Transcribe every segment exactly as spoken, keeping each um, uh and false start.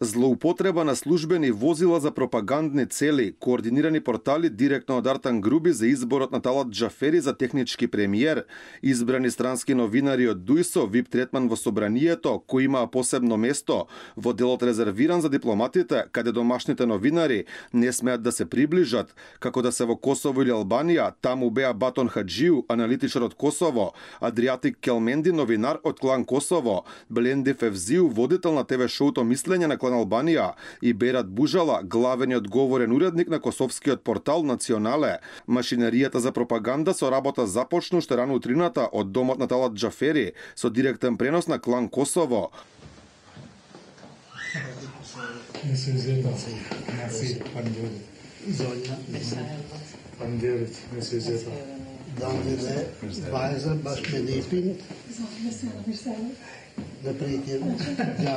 Злоупотреба на службени возила за пропагандни цели, координирани портали директно од Артан Груби за изборот на Талат Џафери за технички премиер, избрани странски новинари од ДУИСО, вип третман во собранието, кој имаа посебно место во делот резервиран за дипломатите, каде домашните новинари не смеат да се приближат, како да се во Косово или Албанија, таму беа Батон Хаджију, аналитичар од Косово, Адриатик Келменди, новинар од клан Косово, Бленди Февзију, водител на ТВ шоуто Мислење на клан Албанија, и Берат Бужала, главен и одговорен уредник на косовскиот портал Национале. Машинеријата за пропаганда со работа започна уште рано утрината од домот на Талат Џафери со директен пренос на клан Косово.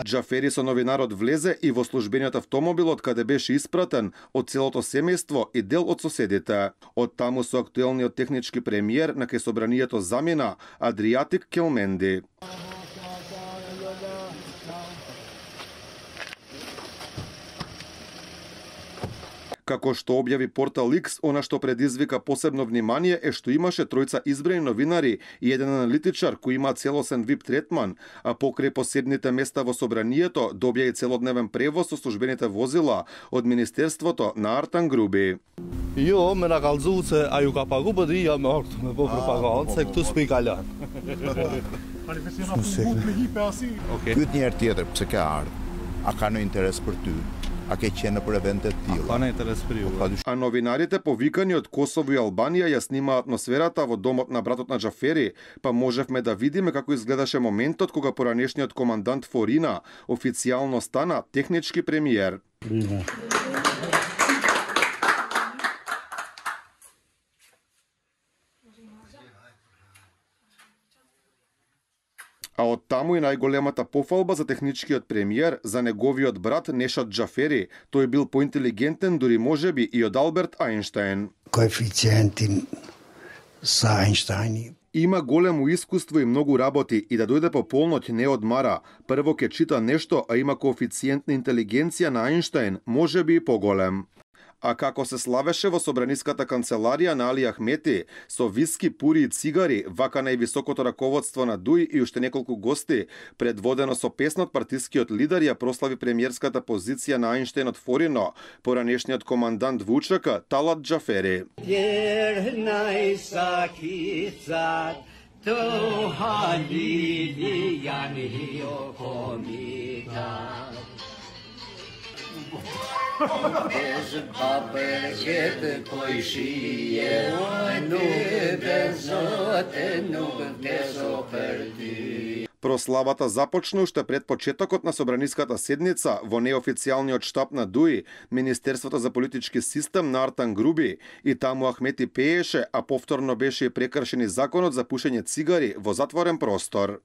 Џафери со новинарот влезе и во службениот автомобил од каде беше испратен од целото семејство и дел од соседите. Од таму со актуелниот технички премиер на кај собранието замина Адриатик Келменди. Како што објави портал Икс, она што предизвика посебно внимание е што имаше тројца избрани новинари и еден аналитичар кој има целосен вип третман, а покрај посебните места во собранието добија и целодневен превоз со службените возила од Министерството на Артан Груби. Jo, me na kallëzuese a ju ka pagu për dhja me aktu me po propagandë, se këtu s'pi kalan. Pyet njerë tjetër, pse ka ardhë? A ka në interes për ty? A ke qenë për eventet tilla? Па не интерес при ju. А новинарите повикани од Косово и Албанија ја снима атмосферата во домот на братот на Џафери, па можевме да видиме како изгледаше моментот кога поранешниот командант Форина официјално стана технички премиер. А од таму и најголемата пофалба за техничкиот премиер, за неговиот брат Нешат Џафери. Тој бил поинтелигентен дури можеби и од Алберт Ајнштајн. Коефициентин са Ајнштајни. Има големо искуство и многу работи и да дојде по полноќ не одмара. Прво ке чита нешто, а има коефициент на интелигенција на Ајнштајн, можеби и поголем. А како се славеше во собраниската канцеларија на Али Ахмети, со виски, пури и цигари, вака највисокото раководство на ДУИ и уште неколку гости, предводено со песнот партискиот лидер ја прослави премиерската позиција на Ајнштајн од Форино, поранешниот командант ВУЧК Талат Џафери. Bez papet koji šije, nuk bezote, nuk bezoperti. Прославата започна уште пред почетокот на собраниската седница во неофицијалниот штаб на ДУИ, Министерството за политички систем на Артан Груби, и таму Ахмети пееше, а повторно беше прекршен и законот за пушење цигари во затворен простор.